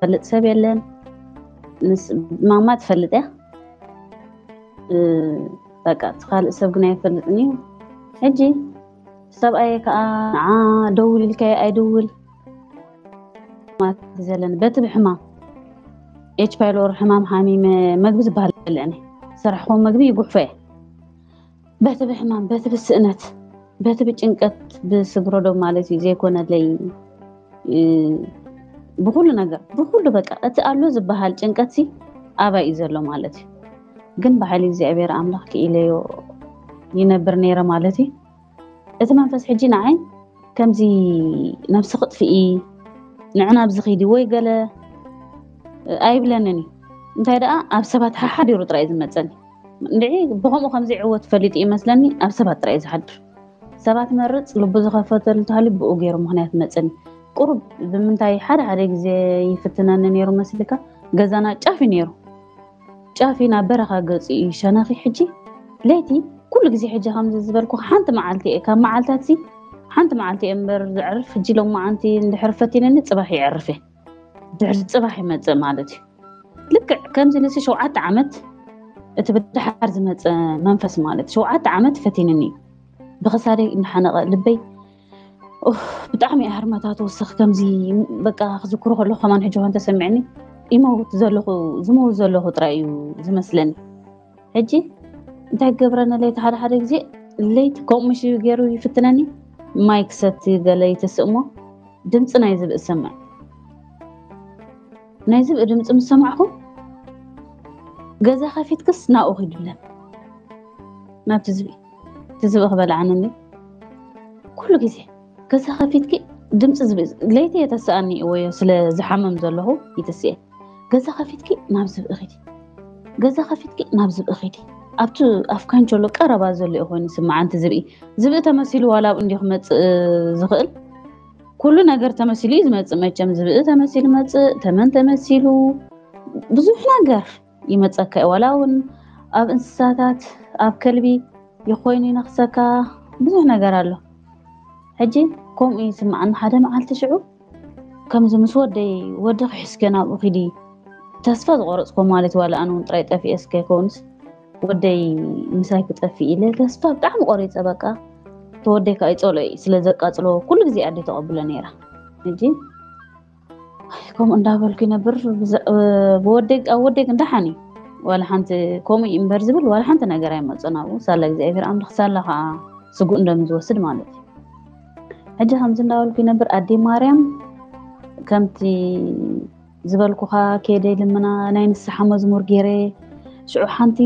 ዝፈልጥ ሰብ የለን። ምስ ማማ ትፈልጥ እያ። እ፣ በቃ እቲ ካልእ ሰብ ግን ኣይፈልጥን እዩ። ሕጂ ሰብኣየ ከዓ ንዓ ደውል ኢልካዮ ኣይደውል ማለት ዘለኒ በቲ ብሕማም ኤች ፓይሎር ሕማም ሓሚመ መግቢ ዝበሃል በልዕኒ ዝሰራሕኹዎ መግቢ ይጉሕፎ እየ። በቲ ብሕማም በቲ ብስእነት በቲ ብጭንቀት ብስግረዶ ማለት እዩ ዘይኮነለይ እ፣ ብኩሉ ነገር ብኩሉ በቃ እቲ ኣሎ ዝበሃል ጭንቀት ሲ ኣባይ እዩ ዘሎ ማለት እዩ። ግን ብሓይሊ እግዚኣብሔር ኣምላኽ ክኢለዮ ይነብር ነይረ ማለት እዩ። እቲ መንፈስ ሕጂ ንዓይ ከምዚ ነብሲ ክጥፍኢ ንዕና ኣብዚ ኺዲ ወይ ገለ ኣይብለንን እዩ። እንታይ ደኣ ኣብ ሰባት ሓሓዲሩ ጥራይ እዩ ዝመፀኒ። እንድዒ ብኸምኡ ከምዚ ዕወት ፈሊጡ ይመስለኒ ኣብ ሰባት ጥራይ እዩ ዝሓድር። ሰባት መርፅ ልቡ ዝኸፈተሉ ተሃሊ ብኡ ገይሩ ምኽንያት መፀኒ። ቁሩብ ብምንታይ ሓደ ሓደ ግዜ ይፍትነኒ ነይሩ መስልካ ገዛና ጫፍ እዩ ነይሩ። ጫፍ እዩ ናብ በረኻ ገፁ እዩ ሸነኺ። ሕጂ ለይቲ ኩሉ ግዜ ሕጂ ከምዚ ዝበልኩ ሓንቲ መዓልቲ እየ ካብ መዓልታት ሲ ሓንቲ መዓልቲ እየ እምበር ዘዕርፍ። ሕጂ ሎማዓንቲ እንድሕር ፈቲነኒ ፅባሕ ይዕርፍ እየ። ድሕሪ ፅባሕ ይመፅእ ማለት እዩ። ልክዕ ከምዚ ንሲ ሸውዓተ ዓመት እቲ ብድሓር ዝመፀ መንፈስ ማለት ሸውዓተ ዓመት ፈቲንኒ እዩ። ብኽሳደይ እናሓነቐ ልበይ ኡፍ፣ ብጣዕሚ እያ ህርመታ ትወስኽ። ከምዚ በቃ ክዝክሮ ከለኹ ከማን ሕጂ ኮን ተሰሚዕኒ ይመውት ዘለኹ ዝመውት ዘለኹ ጥራይ እዩ ዝመስለኒ። ሕጂ እንታይ ክገብረኒ ለይቲ ሓደ ሓደ ግዜ ለይቲ ከምኡ ምሽ ገይሩ ይፍትነኒ። ማይ ክሰቲ ገለ ይትስእ እሞ ድምፂ ናይ ዝብኢ ዝሰምዕ ናይ ዝብኢ ድምፂ ምስ ሰማዕኹ ገዛ ከፊትክስ ናብኡ ኪዱ ኢለን ናብቲ ዝብኢ እቲ ዝብኢ ክበልዓኒ እንዲ ኩሉ ግዜ ገዛ ከፊትኪ ድምፂ ዝብኢ ለይቲ የተስኣኒ ወዮ ስለ ዝሓመም ዘለኹ ይትስኤ። ገዛ ከፊትኪ ናብ ዝብኢ ኺዲ ገዛ ከፊትኪ ናብ ዝብኢ ኺዲ ኣብቲ ኣፍ ካንቸሎ ቀረባ ዘሎ እዩ ኮይኑ ስምዓንቲ ዝብኢ ዝብኢ ተመሲሉ ዋላ ኣብኡ እንዲ ክመፅእ ዝኽእል ኩሉ ነገር ተመሲሉ እዩ ዝመፅእ። መቸም ዝብኢ ተመሲሉ መፅእ፣ ተመን ተመሲሉ ብዙሕ ነገር ይመፀካ እዩ። ዋላ እውን ኣብ እንስሳታት ኣብ ከልቢ ይኮይኑ ይነክሰካ ብዙሕ ነገር ኣሎ። ሕጂ ከምኡ ይስምዓኒ ሓደ መዓልቲ ሽዑ ከምዚ ምስ ወደይ ወዲ ክሕዝከ ናብኡ ኪዲ ተስፋ ዝቆረፅኮ ማለት ዋላ ኣነ እውን ጥራይ ጠፊኤ እስከ ይከውንስ ወደይ ምሳይ ክጠፍእ ኢለ ተስፋ ብጣዕሚ ቆሪፀ። በቃ ተወደይ ከዓ ይፀልኦ እዩ ስለ ዘቃፅሎ ኩሉ ግዜ ኣደ ተቐብሎ ነይራ። ሕጂ ከምኡ እንዳበልኩ ይነብር። ብወደይ ኣብ ወደይ ግን ደሓን እዩ ዋላ ሓንቲ ከምኡ እዩ እምበር ዝብል ዋላ ሓንቲ ነገር ኣይመፅእ ናብኡ ሳላ እግዚኣብሔር ኣምላኽ ሳላ ከዓ ስጉእ እንደም ዝወስድ ማለት እዩ። ሕጂ ከምዚ እንዳበልኩ ይነብር ኣዴ ማርያም ከምቲ ዝበልኩኻ ከይደ ልምና ናይ ንስሓ መዝሙር ገይረ ሽዑ ሓንቲ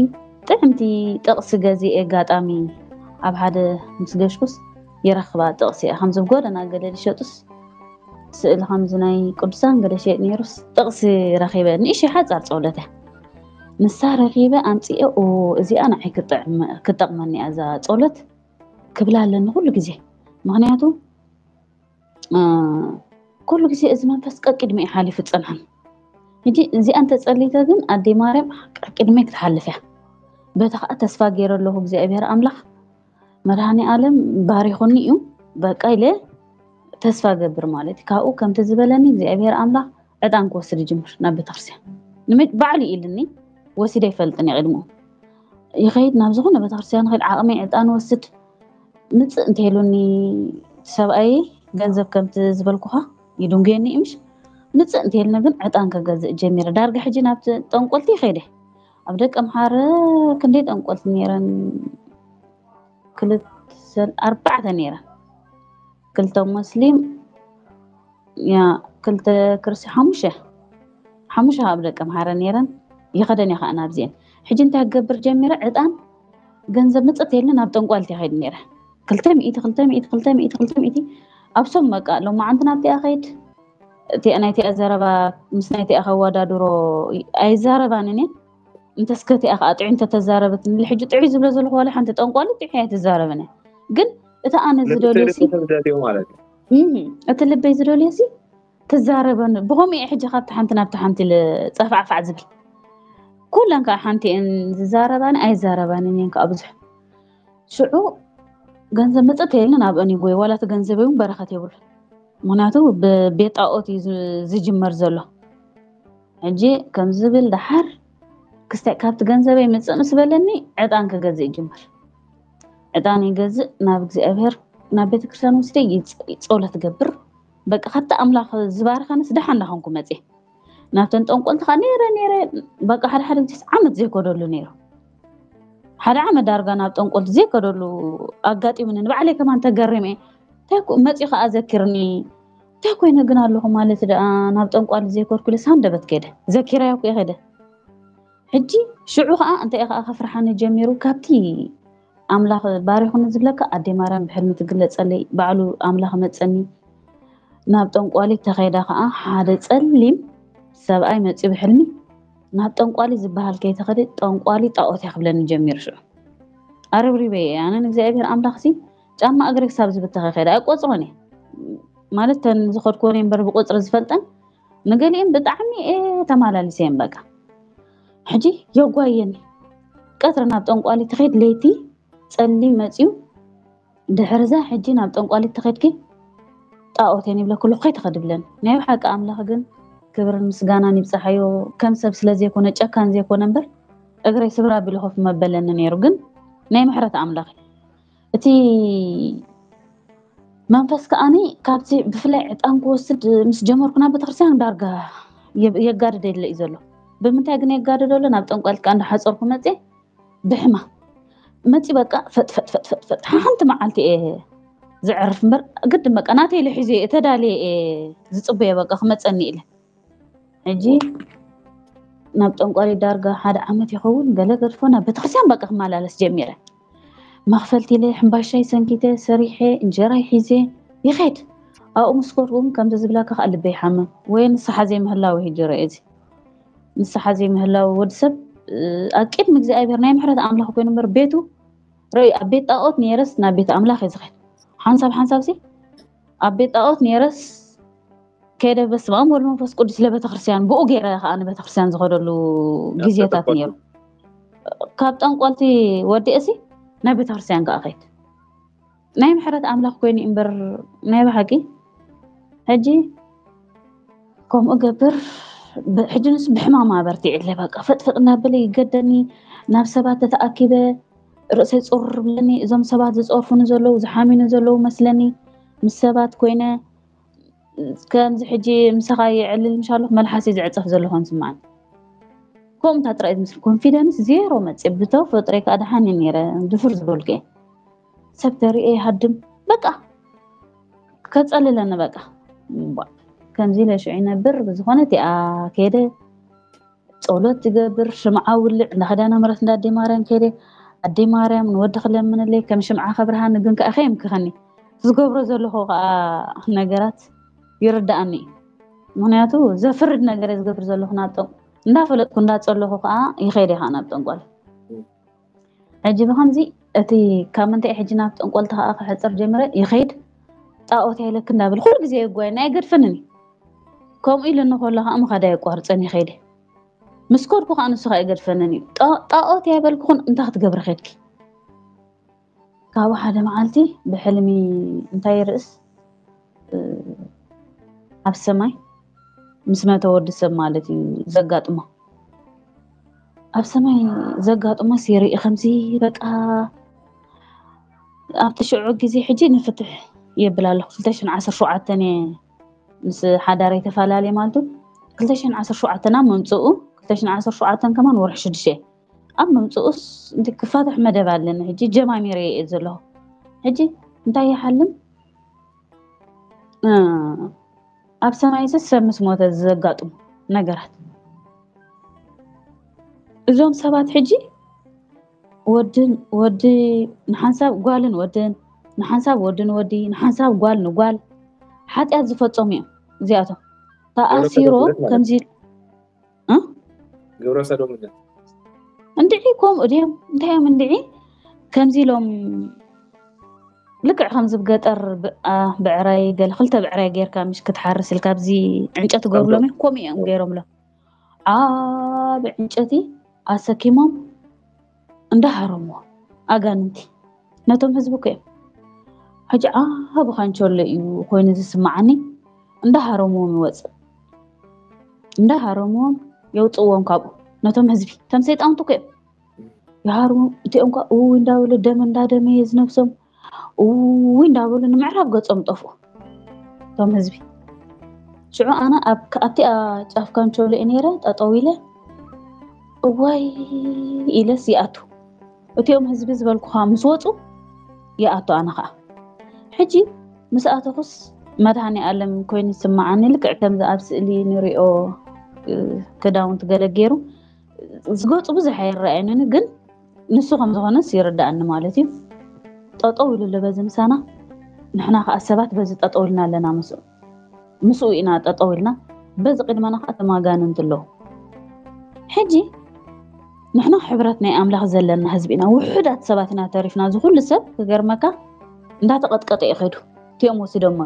ጥዕምቲ ጥቕሲ ገዚኤ ኣጋጣሚ ኣብ ሓደ ምስ ገሽኩስ ይረኽባ ጥቕሲ እያ ከምዚ ጎደና ገለ ዝሸጡስ ስእሊ ከምዚ ናይ ቅዱሳን ገለ ሸጥ ነይሩስ ጥቕሲ ረኺበ ንእሽ ሓፃር ፀውለተ ንሳ ረኺበ ኣምፅኤ እዚኣ ንዓይ ክጠቕመኒ እያ እዛ ፀውለት ክብላ ኣለኒ ኩሉ ግዜ። ምክንያቱ ኩሉ ግዜ እዚ መንፈስ ቀቂድሚ እዩ ሓሊፉ ፀንሓን። ሕጂ እዚኣ እንተፀሊተ ግን ኣደይ ማርያም ቀቂድሚ ክትሓልፍ እያ። በታ ከዓ ተስፋ ገይረ ኣለኹ እግዚኣብሔር ኣምላኽ መድሃኒ ኣለም ባሪኹኒ እዩ በቃ ኢለ ተስፋ ገብር ማለት እዩ። ካብኡ ከምቲ ዝበለኒ እግዚኣብሔር ኣምላኽ ዕጣን ክወስድ ይጅምር ናብ ቤተክርስትያን። ባዕሉ ኢልኒ ወሲደ ይፈልጥን ይቕድሙ ይኸይድ ናብ ዝኾነ ቤተክርስትያን ኸይድ ዓቕሚ ዕጣን ወስድ ምፅእ እንተይሉኒ ሰብኣይ ገንዘብ ከምቲ ዝበልኩኻ ይድንጉየኒ እዩ ምሽ ምፅእ እንተይልና ግን ዕጣን ከገዝእ ጀሚረ ዳርጋ ሕጂ ናብቲ ጠንቆልቲ ይኸይደ ኣብ ደቂ ኣምሓረ ክንደይ ጠንቆልቲ ነይረን ክልተ ኣርባዕተ ነይረን ክልተ ሙስሊም ያ ክልተ ክርስቲ ሓሙሽተ ሓሙሽተ ኣብ ደቂ ኣምሓረ ነይረን ይኸደን እየ ከዓ ናብዚአን ሕጂ እንታይ ክገብር ጀሚረ ዕጣን ገንዘብ ምፅእ ተይልና ናብ ጠንቋልቲ ይኸይድ ነይረ ክልተ ሚእቲ ክልተ ሚእቲ ክልተ ሚእቲ ክልተ ሚእቲ ኣብሶም በቃ ሎማዓንቲ ናብቲኣ ኸይድ እቲኣ ናይቲኣ ዘረባ ምስ ናይቲኣ ከወዳድሮ ኣይዛረባንን እየን እንተስከቲኣ ከዓ ጥዑይ እንተተዛረበት ንል ሕጂ ጥዑይ ዝብሎ ዘለኹ ዋላ ሓንቲ ጠንቋሊ ጥዑይ ኣይትዛረብን እያ ግን እቲ ኣነ ዝደልዮ ማለት እዩ እቲ ልበይ ዝደልዮ ሲ ትዛረበኒ ብኸምኡ እየ ሕጂ ካብቲ ሓንቲ ናብቲ ሓንቲ ጸፋዕፋዕ ዝብል ኩለን ከዓ ሓንቲ እየን ዝዛረባኒ ኣይዛረባንን እየን ከዓ ብዙሕ ሽዑ ገንዘብ መፀት የለን ኣብአን ይጎይ ዋላ እቲ ገንዘብ እውን በረኸት የብሉ ምክንያቱ ብቤት ጣኦት እዩ ዝጅመር ዘሎ ሕጂ ከም ዝብል ደሓር ክስታይ ካብቲ ገንዘበይ ምፅእ ምስ በለኒ ዕጣን ክገዝእ ይጅምር። ዕጣን ይገዝእ፣ ናብ እግዚኣብሔር ናብ ቤተክርስትያን ወስደ ይፅ- ጸሎት ገብር። በቃ ካብቲ ኣምላኽ ዝባርኸንስ ደሓን እንዳኾንኩ መፅእ። ናብተን ጠንቆልቲ ከዓ ነይረ ነይረ በቃ ሓደ ሓደ ግዜስ ዓመት ዘይኮደሉ ነይሩ። ሓደ ዓመት ዳርጋ ናብ ጠንቆልቲ ዘይከደሉ ኣጋጢሙኒ። ንባዕለይ ከማን ተገሪመ። እንታይ ኮ- መፂኡ ከዓ ዘኪርኒ። እንታይ ኮይነ ግን ኣለኹ ማለት ደኣ ናብ ጠንቋሊ ዘይኮድኩ ኢለ ሳንደበት ከይደ። ዘኪራዮ እኮ ከይደ። ሕጂ ሽዑ ከዓ እንታይ ከዓ ከፍርሓኒ ጀሚሩ። ካብቲ ኣምላኽ ባሪኹኒ ዝብለካ ኣዴ ማርያም ብሕልሚ ትግለጸለይ። ባዕሉ ኣምላኽ መጸኒ። ናብ ጠንቋሊ ተኸይዳ ከዓ ሓደ ጸሊም ሰብኣይ መፂኡ ብሕልሚ ናብ ጠንቋሊ ዝበሃል ከይተኸደ ጠንቋሊ ጣዖት እያ ክብለኒ ጀሚሩ። ሽዑ ኣረብሪበ እየ ኣነ ንእግዚኣብሔር ኣምላኽሲ ጫማ እግሪ ክሳብ ዝብተኸ ከይደ ኣይቆፅሮን እየ ማለት ተን ዝኸድኮነ እምበር ብቁፅሪ ዝፈልጠን ንገሊኦም ብጣዕሚ እየ ተማላሊሰ እየን በቃ። ሕጂ የጓየኒ ቀትሪ ናብ ጠንቋሊ ትኸይድ ለይቲ ጸሊም መፅዩ ድሕርዛ ሕጂ ናብ ጠንቋሊት ተኸድኪ ጣዖት እየን ይብለኩ ኣለኩ ከይትኸድ ብለን ናይ ብሓቂ ኣምላኽ ግን ክብርን ምስጋናን ይብፅሓዮ። ከም ሰብ ስለ ዘይኮነ ጨካን ዘይኮነ እምበር እግረይ ስብር ኣቢሉ ኮፍ መበለኒ ነይሩ። ግን ናይ ምሕረት ኣምላኽ እዩ። እቲ መንፈስ ከዓኒ ካብቲ ብፍላይ ዕጣን ክወስድ ምስ ጀመርኩ ናብ ቤተክርስትያን ዳርጋ የጋድደለ እዩ ዘሎ። ብምንታይ ግን የጋድደሎ ናብ ጠንቋልት ከዓ እንዳሓፀርኩ መፅየ ብሕማ መፂ በቃ ፈጥፈጥፈጥፈጥፈጥ ሓንቲ መዓልቲ እየ ዝዕርፍ እምበር ግድን በቃ ናተይ ኢለ ሒዘ እየ ተዳልየ እየ ዝፅበየ በቃ ክመፀኒ ኢለ ሕጂ ናብ ጠንቋሊ ዳርጋ ሓደ ዓመት ይኸውን ገለ ገድፎ ናብ ቤተክርስትያን በቃ ክመላለስ ጀሚረ። መኽፈልቲ ኢለ ሕምባሻይ ሰንኪተ ሰሪሐ እንጀራይ ሒዘ ይኸድ ኣብኡ ምስ ኮድኩም ከምዚ ዝብላካ ከዓ ልበይ ይሓምም ወይ ንስሓ ዘይምህላው ይህጅረ እዚ ንስሓ ዘይምህላው ወዲ ሰብ ኣብ ቅድሚ እግዚኣብሔር ናይ ምሕረት ኣምላኽ ኮይኑ እምበር ቤቱ ርእዩ ኣብ ቤት ጣዖት ነይረስ ናብ ቤት ኣምላኽ እየ ዝኸድ ሓንሳብ ሓንሳብ ሲ ኣብ ቤት ጣዖት ነይረስ ከይደ በስመ ኣብ ወልድ መንፈስ ቅዱስ ለቤተክርስትያን ብኡ ገይረ ከዓ ንቤተክርስትያን ዝኸደሉ ግዜታት ነይሩ። ካብ ጠንቆልቲ ወዲእሲ ናብ ቤተክርስትያን ከዓ ከይድ ናይ ምሕረት ኣምላኽ ኮይኑ እምበር ናይ ብሓቂ ሕጂ ከምኡ ገብር ሕጂ ንስ ብሕማም ኣበርቲዕለ በቃ ፈጥፈጥ እናበለ ይገደኒ ናብ ሰባት ተተኣኪበ ርእሰይ ፁር ብለኒ እዞም ሰባት ዝፀርፉኒ ዘለዉ ዝሓሚኑ ዘለዉ መስለኒ ምስ ሰባት ኮይነ ከምዚ ሕጂ ምሳኻ የዕልል ምሻለኹ መልሓሰይ ዝዕፀፍ ዘለኹ ንስማዓኒ ከምኡታ ጥራይ ዝምስል ኮንፊደንስ ዜሮ መፅእ ብተፈጥሮይ ከዓ ደሓን ነይረ ድፍር ዝበልኩ እየ ሰብ ተሪኤ ይሃድም በቃ ከፀልለኒ በቃ ከምዚ ኢለ ሽዑ ይነብር ብዝኾነ እቲኣ ከይደ ጸሎት ትገብር ሽምዓ ውልዕ እንዳ ኪዳነ ምሕረት እንዳ ኣደይ ማርያም ከይደ ኣደይ ማርያም ንወዲ ክለምንለይ ከም ሽምዓ ከብርሃኒ ግን ከኣ ከየምክኸኒ ዝገብሮ ዘለኹ ከኣ ነገራት ይርድኣኒ እዩ ምክንያቱ ዘፍርድ ነገር ዝገብር ዘለኹ ናብ ጠንቆ እንዳፈለጥኩ እንዳጸለኹ ከኣ ይኸይደ ከኣ ናብ ጠንቆል ሕጂ ብኸምዚ እቲ ካብ ምንታይ ሕጂ ናብ ጠንቆልቲ ከኣ ክሕፅር ጀምረ ይኸይድ ጣኦት ያይለክ እንዳብል ኩሉ ግዜ የጓየና ኣይገድፈንን እዩ ከምኡ ኢሉ እንከሎ ከዓ ምኻድ ኣየቋርፀን ይኸይደ ምስ ከድኩ ከዓ ንሱ ከዓ ይገድፈንን እዩ ጣኦት ያይበልኩኹን እንታይ ክትገብሪ ከድኪ ካብኡ ሓደ መዓልቲ ብሕልሚ እንታይ ርእስ ኣብ ሰማይ ምስ መተ ወዲ ሰብ ማለት እዩ ዘጋጥሞ ኣብ ሰማይ ዘጋጥሞ ሲርኢ ከምዚ በቃ ኣብቲ ሽዑ ግዜ ሕጂ ንፍትሕ የብል ኣለኹ ክልተ ሽሕን ዓሰርተ ሸውዓተን እየ ምስ ሓዳረይ ተፈላለየ ማለት ክልተ ሽሕን ዓሰርተ ሸውዓተን ኣብ ምምፅኡ ክልተ ሽሕን ዓሰርተ ሸውዓተን ከማን ወርሒ ሽዱሽተ ኣብ ምምፅኡስ ክፋትሕ መደብ ኣለኒ ሕጂ ጀማሚረ እየ ዘለኹ ሕጂ እንታይ ይሓልም ኣብ ሰማይስ ሰብ ምስ ሞተ ዘጋጥሙ ነገራት እዞም ሰባት ሕጂ ወድን ወዲ ንሓንሳብ ጓልን ወድን ንሓንሳብ ወድን ወዲ ንሓንሳብ ጓል ንጓል ሓጢኣት ዝፈጸሙ እዮም እዚኣቶም ተኣሲሮም ከምዚ ግብረ ሰዶምነት እንድዒ ከምኡ ድዮም እንታይ እዮም እንድዒ ከምዚ ኢሎም ልክዕ ከምዚ ብገጠር ብዕራይ ገለ ክልተ ብዕራይ ጌርካ ምሽ ክትሓርስ ኢልካ ኣብዚ ዕንጨቲ ገብርሎም እዮም ከምኡ እዮም ገይሮምሎም ዓቢ ዕንጨቲ ኣሰኪሞም እንዳሃረምዎ ኣጋንንቲ ነቶም ህዝቢ እኮ እዮም ሕጂ ዓቢ ካንቸሎ እዩ ኮይኑ ዝስማዓኒ እንዳሃረምዎም ይወፅእ እንዳሃረምዎም የውፅእዎም ካብኡ። ነቶም ህዝቢ፣ እቶም ሰይጣውንቲ እኮ እዮም። ይሃርሙ። እቲኦም ከ እው እንዳበሉ፣ ደም እንዳደመየ ዝነብሶም እው እንዳበሉ ንምዕራብ ገጾም ጠፍኡ እቶም ህዝቢ። ሽዑ ኣነ ኣብቲኣ ጫፍ ካንቸሎ እየ ነይረ፣ ጠጠው ኢለ እዋይ ኢለስ ይኣቱ። እቲኦም ህዝቢ ዝበልኩኻ ምስ ወፁ ይኣቱ። ኣነ ከዓ ሕጂ ምስ ኣተኹስ መድሃኒ ኣለም ኮይኑ ይስማዓኒ። ልክዕ ከምዚ ኣብ ስእሊ ንሪኦ ክዳውንቲ ገለ ገይሩ ዝገፁ ብዙሕ ኣይረኣየንን፣ ግን ንሱ ከም ዝኾነስ ይርዳኣኒ ማለት እዩ። ጠጠው ኢሉ ኣሎ በዚ ምሳና። ንሕና ከዓ ሰባት በዚ ጠጠው ኢልና ኣለና። ምስ ምስኡ ኢና ጠጠው ኢልና። በዚ ቅድመና ከዓ ተማጋንንቲ ኣለዉ። ሕጂ ንሕና ሕብረት ናይ ኣምላኽ ዘለና ህዝቢ ኢና። ውሑዳት ሰባት ኢና ተሪፍና። እዚ ኩሉ ሰብ ክገርመካ እንዳተቐጥቀጠ እዩ ኸይዱ። እቲኦም ወሲዶሞ።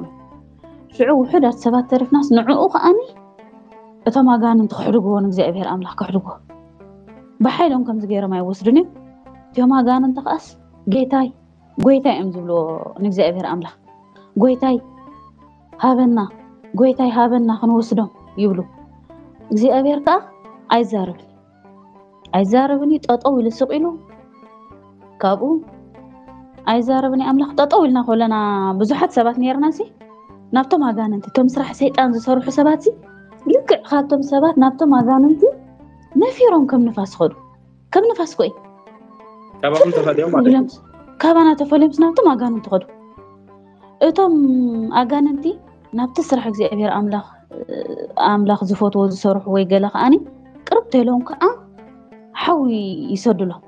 ሽዑ ውሑዳት ሰባት ተሪፍናስ ንዕኡ ከዓኒ እቶም ኣጋንንቲ ክሕድግዎ ንእግዚኣብሔር ኣምላኽ ክሕድግዎ ብሓይሎም ከምዚ ገይሮም ኣይወስዱን እዮም። እቲኦም ኣጋንንቲ ከዓስ ጌታይ ጎይታይ እዮም ዝብልዎ ንእግዚኣብሔር ኣምላኽ። ጎይታይ ሃበና፣ ጎይታይ ሃበና ክንወስዶም ይብሉ። እግዚኣብሔር ከዓ ኣይዛረብን ኣይዛረብን እዩ። ጠጠው ኢሉ ስቕ ኢሉ ካብኡ ኣይዛረብን እዩ ኣምላኽ። ጠጠው ኢልና ከለና ብዙሓት ሰባት ነርና ሲ ናብቶም ኣጋንንቲ እቶም ስራሕ ሰይጣን ዝሰርሑ ሰባት ሲ ልክዕ ካብቶም ሰባት ናብቶም ኣጋንንቲ ነፊሮም ከም ንፋስ ኸዱ። ከም ንፋስ ኮይ ካባኹም ተፈልዮም ማለት እዩ። ካባና ተፈልዮም ናብቶም ኣጋንንቲ ኸዱ። እቶም ኣጋንንቲ ናብቲ ስራሕ እግዚኣብሔር ኣምላኽ ኣምላኽ ዝፈትዎ ዝሰርሑ ወይ ገለ ከዓኒ ቅርብ ተሎም ከዓ ሓዊ ይሰድሎም።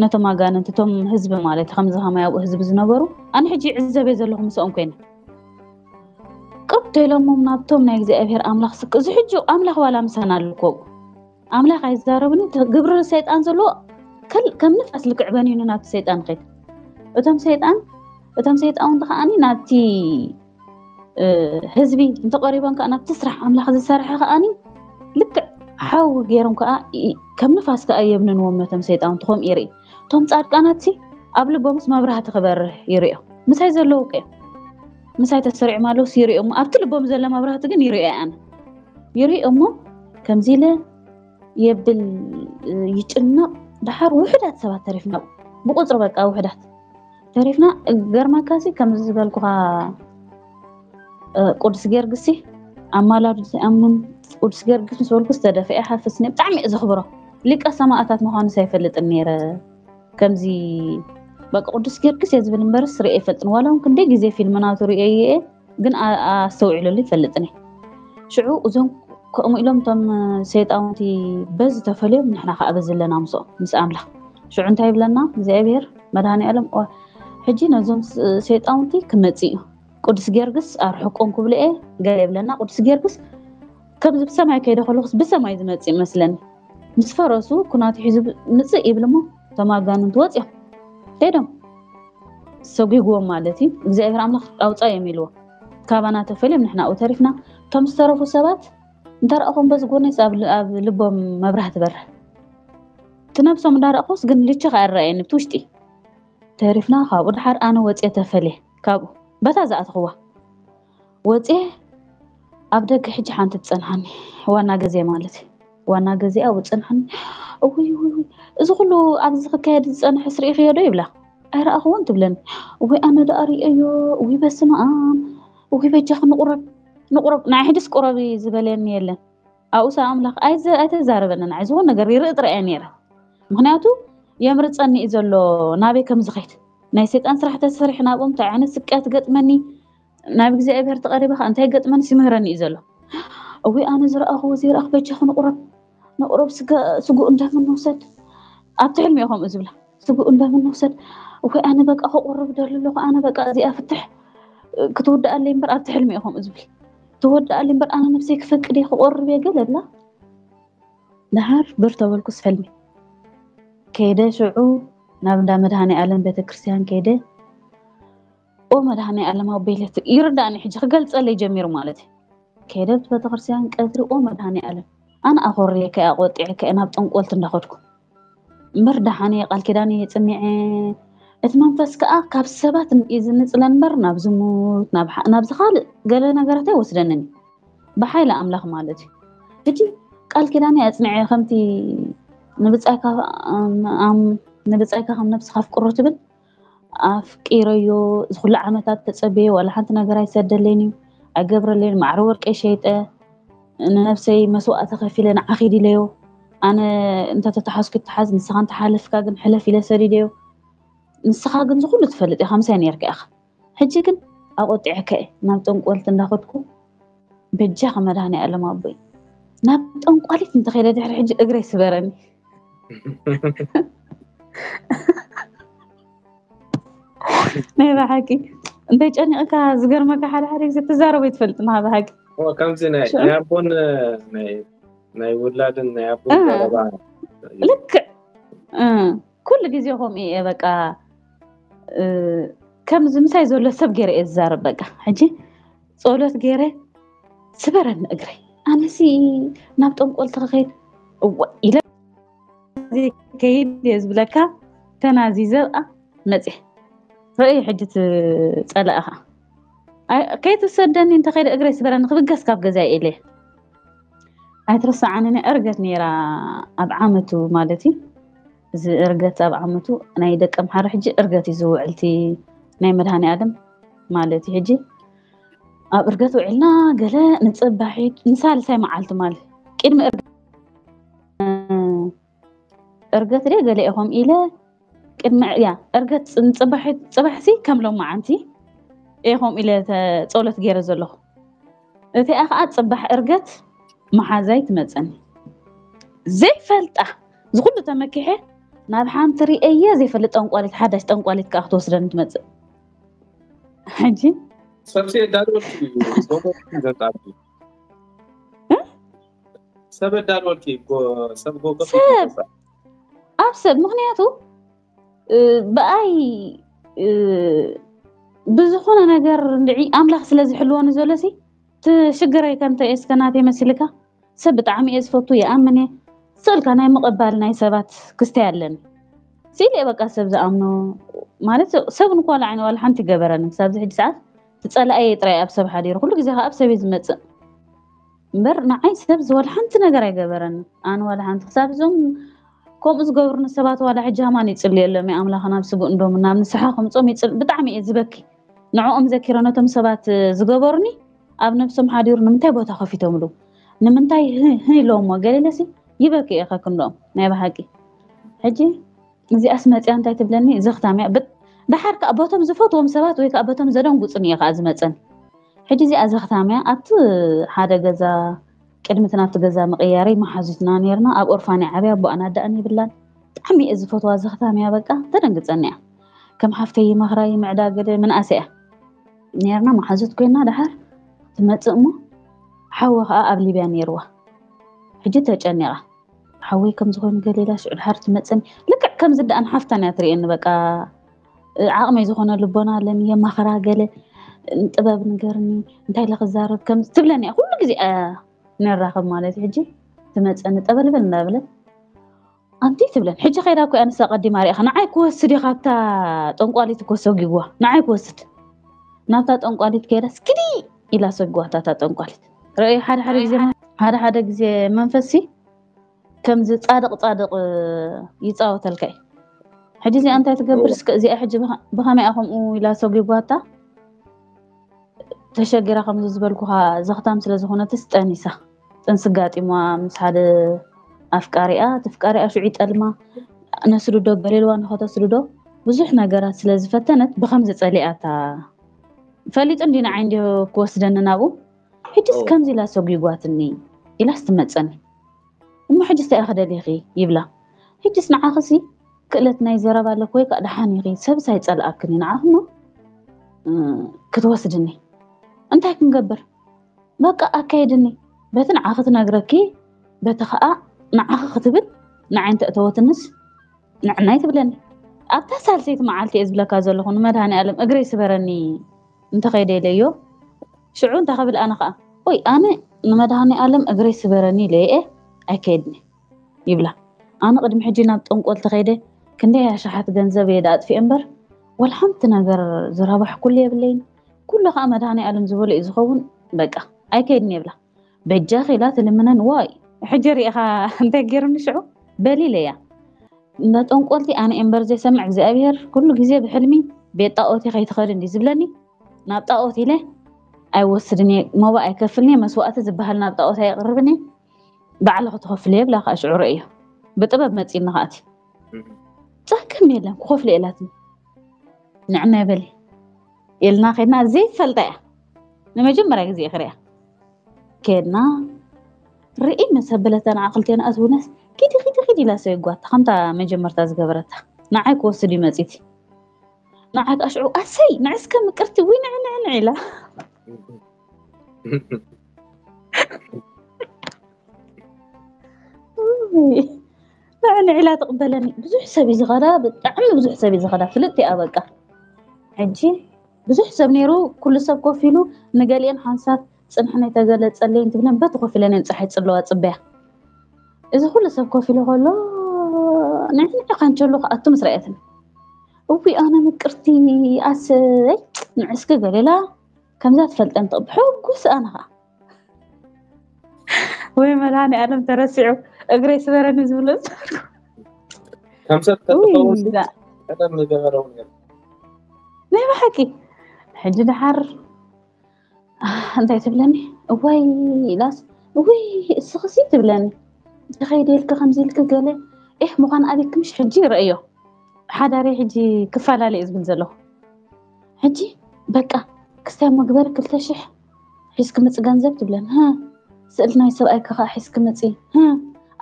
ነቶም ኣጋንንቲ እቶም ህዝቢ ማለት ከምዚ ከማይ ኣብኡ ህዝቢ ዝነበሩ ኣነ ሕጂ ይዕዘበ ዘለኹ ምስኦም ኮይነ ቅርብ ተሎሞም ናብቶም ናይ እግዚኣብሔር ኣምላኽ ስክ እዚ ሕጂ ኣምላኽ ዋላ ምሳና ኣለኮ ኣምላኽ ኣይዛረብን። እቲ ግብሪ ሰይጣን ዘለዎ ከል- ከም ንፋስ ልክዕ በኒኑ ናብቲ ሰይጣን ኸይድ። እቶም ሰይጣን እቶም ሰይጣውንቲ ከዓኒ ናብቲ እ፣ ህዝቢ እንተቀሪቦም ከዓ ናብቲ ስራሕ ኣምላኽ ዝሰርሐ ከዓኒ ልክዕ ሓዊ ገይሮም ከዓ ይ- ከም ንፋስ ከዓ የብንንዎም ነቶም ሰይጣውንቲ። ከምኡ ይርኢ። እቶም ጻድቃናት ሲ ኣብ ልቦምስ መብራህቲ ክበርህ ይርእዮ። ምሳይ ዘለዉ ቀ ምሳይ ተሰሪዖም ኣለውስ ይርእዮ። ኣብቲ ልቦም ዘሎ መብራህቲ ግን ይርእዮ ኣነ ይርኢ እሞ ከምዚ ኢለ የብል ይጭነቕ። ደሓር ውሕዳት ሰባት ተሪፍና ብቁፅሪ በቃ ውሕዳት ተሪፍና። ገርመካሲ ከምዚ ዝበልኩኻ ቅዱስ ጊዮርጊስ ኣማላዱ ዘይኣምን ቅዱስ ጊዮርጊስ ምስ በልኩ ዝተደፍአ ሓፍስኒ ብጣዕሚ እየ ዘኽብሮ። ሊቀ ሰማእታት ምዃኑ ሳይፈልጥን ነይረ። ከምዚ በቃ ቅዱስ ጊዮርጊስ እየ ዝብል እምበርስ ርእየ ይፈልጥን ዋላ እውን ክንደይ ግዜ ፊልም ናቱ ርእየ እየ ግን ኣስተውዒለሉ ይፈልጥን እየ። ሽዑ እዞም ከምኡ ኢሎም እቶም ሰይጣውንቲ በዚ ተፈልዮም ንሕና ከዓ በዚ ኣለና ምስኦም ምስ ኣምላኽ። ሽዑ እንታይ ይብለና እግዚኣብሔር መድሃኒ ኣለም ሕጂ ነዞም ሰይጣውንቲ ክመፅ እዩ ቅዱስ ጊዮርጊስ ኣርሕቆም ክብሉ እየ ገለ ይብለና። ቅዱስ ጊዮርጊስ ከምዚ ብሰማይ ከይደ ከለኩስ ብሰማይ ዝመፅ ይመስለኒ። ምስ ፈረሱ ኩናቱ ሒዙ ምፅእ ይብል እሞ እቶም ኣጋንንቲ ወፅኦም ከይዶም ሰጒግዎም ማለት እዩ። እግዚኣብሔር ኣምላኽ ኣውፃ እዮም ኢልዎ። ካባና ተፈልዮም ንሕና ኣብኡ ተሪፍና። እቶም ዝተረፉ ሰባት እንተረእኹም በዚ ጎነይስ ኣብ ል- ኣብ ልቦም መብራህቲ በርህ። እቲ ነብሶም እንዳረእኹስ ግን ልችኽ ኣይረኣየኒ ብቲ ውሽጢ ተሪፍና። ካብኡ ድሓር ኣነ ወፅየ ተፈልየ ካብኡ በታ ዝኣትኽዋ ወፅየ ኣብ ደገ ሕጂ ሓንቲ ትፀንሓኒ ዋና ገዜ ማለት እዩ። ዋና ገዜ ኣብኡ ትፀንሓኒ። እውይ እውይ እውይ፣ እዚ ኩሉ ኣብዚ ክካየድ ዝፀንሐ ስርኢኽዮ ዶ ይብላ። ኣይረኣኽዎን ትብለኒ። እውይ ኣነ ደኣ ርእየዮ። እውይ በስመ ኣብ። እውይ በጃኺ ንቁረብ ንቁረብ። ንዓይ ሕድስ ቁረቢ ዝበለኒ የለን። ኣብኡ ሰብ ኣምላኽ ኣይዘ- ኣይተዛረበንን። ንዓይ ዝኾነ ነገር ይርኢ ጥራይ እየ ነይረ። ምክንያቱ የምርፀኒ እዩ ዘሎ ናበይ ከም ዝኸይድ። ናይ ሰይጣን ስራሕ ተሰሪሕ ናብኦም እንታይ ዓይነት ስቃያት ገጥመኒ ናብ እግዚኣብሔር ተቐሪበ ከዓ እንታይ ገጥመን ሲምህረኒ እዩ ዘሎ። እዊ ኣነ ዝረኣኽዎ ዘይረኣኽ በጃ ክንቁረብ ንቁረብ ስጋ- ስጉኡ እንደምን ንውሰድ። ኣብቲ ሕልሚ እየ ከምኡ ዝብላ ስጉኡ እንደምን ንውሰድ። እኮ ኣነ በቃ ክቆርብ ደሊ ኣለኹ ኣነ በቃ እዚኣ ፍትሕ ክትውድኣለይ እምበር ኣብቲ ሕልሚ እየ ከምኡ ዝብል ትወድኣለይ እምበር ኣነ ነብሰይ ክፈቅድ እየ ክቆርብ እየ ገለ ብላ። ደሓር ብር ተበልኩስ ሕልሚ ከይደ ሽዑ ናብ እንዳ መድሃኒ ኣለም ቤተክርስትያን ከይደ ኦ መድሃኒ ኣለም ኣቦይለት ይርዳእኒ ሕጂ ክገልፀለይ ጀሚሩ ማለት እዩ። ከይደ ቤተክርስትያን ቀትሪ ኦ መድሃኒ ኣለም ኣነ ኣኾርየ ከያ ቆጢዐ ከየ ናብ ጠንቆልት እንዳኸድኩ እምበር ደሓነ ቃል ኪዳን እየ ፅኒዐ እቲ መንፈስ ከዓ ካብ ሰባት እዩ ዝንፅለን እምበር ናብ ዝሙት ናብ ሓ- ናብ ዝካልእ ገለ ነገራት ኣይወስደንን እዩ። ብሓይሊ ኣምላኽ ማለት እዩ። ሕጂ ቃል ኪዳነይ ኣጽኒዐ፣ ከምቲ ንብጻይካ ኣም- ኣም- ንብጻይካ ከም ነብስኻ ኣፍቅሮ ትብል፣ ኣፍቂረዮ። ዝኹሉ ዓመታት ተጸበየ፣ ዋላ ሓንቲ ነገር ኣይሰደለይን እዩ፣ ኣይገብረለይን። ማዕረ ወርቀይ ሸይጠ፣ ንነብሰይ መስዋእቲ ከፊለ ንዓኺ ኢለዮ። ኣነ እንተተተሓዝኩ ይተሓዝ፣ ንስኻ እንተሓለፍካ ግን ሕለፍ ኢለ ሰዲደዮ። ንስኻ ግን ዝኹሉ ትፈልጥ ኢኻ፣ ምሳይ ነርካ ኢኻ። ሕጂ ግን ኣቆጢዐካ እየ፣ ናብ ጠንቆልቲ እንዳኸድኩ። በጃኻ መድሃኔ ዓለም ኣቦይ፣ ናብ ጠንቋሊት እንተኸይደ ድሕሪ ሕጂ እግረይ ስበረኒ። ናይ ብሓቂ እንተይ ጨኒቕካ፣ ዝገርመካ፣ ሓደ ሓደ ግዜ ትዛረቦ ይትፈልጥ፣ ማ ብሓቂ ከምዚ ናይ ኣቦን ናይ ውላድን ናይ ኣቦን ዘረባ። ልክዕ ኩሉ ግዜ ከምኡ እየ። በቃ ከምዚ ምሳይ ዘሎ ሰብ ገይረ እየ ዝዛረብ። በቃ ሕጂ ጸሎት ገይረ፣ ስበረኒ እግረይ፣ ኣነሲ ናብ ጠንቆልቲ ክኸይድ እወ ኢለ ከይድ እየ ዝብለካ። ተናዚዘ ኣ መፅእ ርእይ ሕጂ ትፀላእኻ ከይትሰደኒ እንተኸይደ እግረይ ስበረኒ ክብገስ ካብ ገዛ ኢለ። ኣይትረስዓንኒ። እርገት ነይራ ኣብ ዓመቱ ማለት እዩ። እዚ እርገት ኣብ ዓመቱ ናይ ደቂ ኣምሓራ ሕጂ እርገት እዩ ዝውዕል፣ እቲ ናይ መድሃኔ ኣለም ማለት እዩ። ሕጂ ኣብ እርገት ውዒልና ገለ ንፅባሒት ንሳልሳይ መዓልቲ ማለት ቅድሚ እርገት እርገት ደ ገለ ኢኹም ኢለ ቅድሚ ያ እርገት ንፅባሒት ፅባሕሲ ከም ሎማዓንቲ ኢኹም ኢለ ተ- ፀሎት ገይረ ዘለኹ። እቲኣ ከዓ ፅባሕ እርገት መሓዛይ ትመፀኒ ዘይፈልጣ ዝኩሉ ተመኪሐ ናብ ሓንቲ ርእየ ዘይፈልጥ ጠንቋሊት ሓዳሽ ጠንቋሊት ከዓ ክትወስደኒ ትመፅእ። ሕጂ ሰብሲ የዳልወልኪ እዩ። ሰብሲ ዘጣሉ ሰብ የዳልወልኪ ጎ- ሰብ ጎ- ሰብ ኣብ ሰብ ምክንያቱ እ፣ ብኣይ እ፣ ብዝኾነ ነገር እንድዒ ኣምላኽ ስለ ዝሕልወኒ ዘሎ ሲ ትሽግረይ ከምተ እስከ ናተይ መሲልካ ሰብ ብጣዕሚ እየ ዝፈቱ ይኣምን እየ ስእልካ ናይ ምቕባል ናይ ሰባት ክስተይ ኣለኒ ስኢለ እየ በቃ ሰብ ዝኣምኖ ማለት ሰብ ንኳላ ዓይኒ ዋላ ሓንቲ ይገበረኒ ክሳብ ዝሕጂ ሰዓት ትፀላእየ ጥራይ ኣብ ሰብ ሓዲሩ ኩሉ ግዜ ከዓ ኣብ ሰብ እየ ዝመፅእ እምበር ንዓይ ሰብ ዝወላ ሓንቲ ነገር ኣይገበረኒ ኣነ ዋላ ሓንቲ ክሳብ እዞም ከምኡ ዝገብሩኒ ሰባት ዋላ ሕጂ ሃማን ይፅልየሎም እየ ኣምላኽ ናብ ስቡእ እንዶም ናብ ንስሓ ከምፆም ይፅል ብጣዕሚ እየ ዝበኪ ንዕኦም ዘኪረ ነቶም ሰባት ዝገበሩኒ ኣብ ነብሶም ሓዲሩ ንምንታይ ቦታ ከፊቶምሉ ንምንታይ ህ- ህ ኢለዎሞ ገሌለሲ ይበኪ እየ ከክንዶም ናይ ብሓቂ ሕጂ እዚኣስ መፅያ እንታይ ትብለኒ ዘኽታም እያ ብ- ደሓር ከዓ በቶም ዝፈትዎም ሰባት ወይ ከዓ በቶም ዘደንጉፁኒ እየ ከዓ ዝመፀን ሕጂ እዚኣ ዘኽታም እያ ኣብቲ ሓደ ገዛ ቅድሚ እቲ ናብቲ ገዛ ምቕያረይ መሓዙትና ነርና ኣብ ኦርፋን እያ ዓብያ ኣቦኣን ኣደኣን የብላን ብጣዕሚ እየ ዝፈትዋ ዘኽታም እያ በቃ ተደንግፀኒ እያ ከም ሓፍተይ ይመኽራ ይምዕዳ ገለ ምንኣሰ እያ ነርና መሓዙት ኮይና ደሓር ትመፅእ እሞ ሓወ ከዓ ኣብ ሊብያ ነይርዋ ሕጂ ተጨኒቓ ሓወይ ከም ዝኾኑ ገሌላ ሽዑ ድሓር ትመፀኒ ልክዕ ከምዚ ደኣ ንሓፍታን እያ ትርእየኒ በቃ ዓቕመይ ዝኾነ ልቦና ኣለኒ የማኽራ ገለ ጥበብ ንገርኒ እንታይ ኢለ ክዛረብ ከም ትብለኒ እያ ኩሉ ግዜ እያ ንራኸብ ማለት እዩ ሕጂ ትመፀኒ ጠበልበል እንዳበለት ኣንቲ ትብለን ሕጂ ከይዳ እኮ ኣንሳ ቀዲማ ሪእኻ ንዓይ ክወስድ እዩ ካብታ ጠንቋሊት እኮ ሰጊግዋ ንዓይ ክወስድ ናብታ ጠንቋሊት ከይዳ ስኪዲ ኢላ ሰጊዋታ እታ ጠንቋሊት ርእዩ ሓደ ሓደ ግዜ ሓደ ሓደ ግዜ መንፈሲ ከምዚ ጻድቕ ጻድቕ ይጻወተልካ እዩ ሕጂ እዚኣ እንታይ ትገብር እስከ እዚኣ ሕጂ ብኸመይ ከምኡ ኢላ ሰጒጓታ ተሸጊራ ከምዚ ዝበልኩኻ ዘኽታም ስለ ዝኾነትስ ጠኒሳ ጥንሲ ጋጢሟ ምስ ሓደ ኣፍቃሪኣ እቲ ፍቃሪኣ ሽዑ ይጠልማ ነስድዶ ገሌልዋ ንኸተስድዶ ብዙሕ ነገራት ስለ ዝፈተነት ብኸምዚ ጸሊኣታ ፈሊጡ እንዲ ንዓይ እንዲ ክወስደኒ ናብኡ ሕጅስ ከምዚ ኢላ ሰጒጓትኒ ኢላስ ትመፀኒ እሞ ሕጅስ እንታይ ኢኺ ደሊኺ ይብላ ሕጅስ ንዓኽሲ ክእለት ናይ ዘረባ ኣለክ ወይ ከዓ ደሓን ኢኺ ሰብስ ኣይፀልኣክን እዩ ንዓኽሞ ክትወስድኒ እንታይ ክንገብር በቃ ኣካይድኒ በቲ ንዓኺ ትነግረኪ በቲ ከዓ ንዓኺ ክትብል ንዓይ እንተእተወትንስ ንዕናይ ትብለኒ ኣብታ ሳልሰይቲ መዓልቲ እየ ዝብለካ ዘለኹ ንመድሃኒ ኣለም እግረይ ስበረኒ እንተኸይደ ኢለዮ ሽዑ እንታይ ክብል ኣነ ከዓ ወይ ኣነ ንመድሃኒ ኣለም እግረይ ስበረኒ ኢለየ ኣይከይድኒ ይብላ ኣነ ቅድሚ ሕጂ ናብ ጠንቆል ተኸይደ ክንደይ ኣሽሓት ገንዘብ እየ ኣጥፊኤ እምበር ወላ ሓንቲ ነገር ዝረባሕኩሉ የብለይን ኩሉ ከዓ መድሃኒ ኣለም ዝበሎ እዩ ዝኸውን በቃ ኣይከይድኒ ይብላ በጃኺ ኢላ ትልምነን ዋይ ሕጂ ርኢኻ እንታይ ገይሩኒ ሽዑ? በሊለ እያ። እንዳ ጠንቆልቲ ኣነ እምበር ዘይሰምዕ እግዚኣብሔር ኩሉ ግዜ ብሕልሚ ቤት ጣኦት ከይትኸድ እንዲ ዝብለኒ፣ ናብ ጣኦት ኢለ ኣይወስድን እየ። ሞባ ኣይከፍልን እየ። መስዋእቲ ዝበሃል ናብ ጣኦት ኣይቕርብን እየ። ባዕልኺ ትኸፍልዮ ይብላ ከዓ ሽዑ ርእዮ። ብጥበብ መፂኒ ከኣቲ ጸገም የለን ክኸፍሎ ኢላትኒ። ንዕና ይበሊ ኢልና ከድና ዘይፈልጣ እያ ንመጀመርያ ግዜ ክሪያ ከድና ርኢ መሰበለታ ንዓክልቴና ኣትውነስ ኪዲ ኪዲ ኪዲ ኢላ ሰይጓታ ከምታ መጀመርታ ዝገበረታ ንዓይ ክወስድ እዩ መፂቲ ንዓይ ከዓ ሽዑ ኣሰይ ንዕስከ ምቅርቲ ውይ ንዕ ንዕ ንዕ ኢላ ንዕ ንዕ ኢላ ትቕበለኒ ብዙሕ ሰብ እዩ ዝኸዳ ብጣዕሚ ብዙሕ ሰብ እዩ ዝኸዳ ፍልጥ እያ በቃ ሕጂ ብዙሕ ሰብ ነይሩ ኩሉ ሰብ ኮፍ ኢሉ ንገሊአን ሓንሳብ ፅንሕነይ ተገለፀለይን ትብለን በቲ ኮፍ ኢለን እየን ፀሓይ ፅለዋ ፅበያ እዚ ኩሉ ሰብ ኮፍ ኢሉ ከሎ ንዕንዕ ካንቸሎ ክኣቱ ምስ ረኣየትኒ እዊ ኣነ ምቅርቲ ኣሰይ ንዕስኪ ገሌላ ከምዛ ትፈልጠን ብሕጉስ ኣነ ከዓ ወይ መድሃኒ ኣለም ተረሲዑ እግረይ ስበረኒ ዝብሎ ዝነበርኩ ከም ሰብ ተትኸውን ቀደም ምገበረው ነይሩ ናይ ብሓቂ ሕጂ ድሓር እንታይ ትብለኒ እዋይ ኢላስ እውይ እስኽሲ ትብለኒ ተኸይደ ኢልኪ ከምዚ ኢልኪ ገለ ኤህ ምዃን ኣቤኪ ምሽ ሕጂ ይረእዮ ሓዳሪ ሕጂ ክፈላለ እዩ ዝብል ዘለኹ ሕጂ በቃ ክስታይ መግበር ክልተ ሽሕ ሒዝኪ ምፂ ገንዘብ ትብለኒ ስእል ናይ ሰብኣይኪ ከዓ ሒዝኪ ምፂ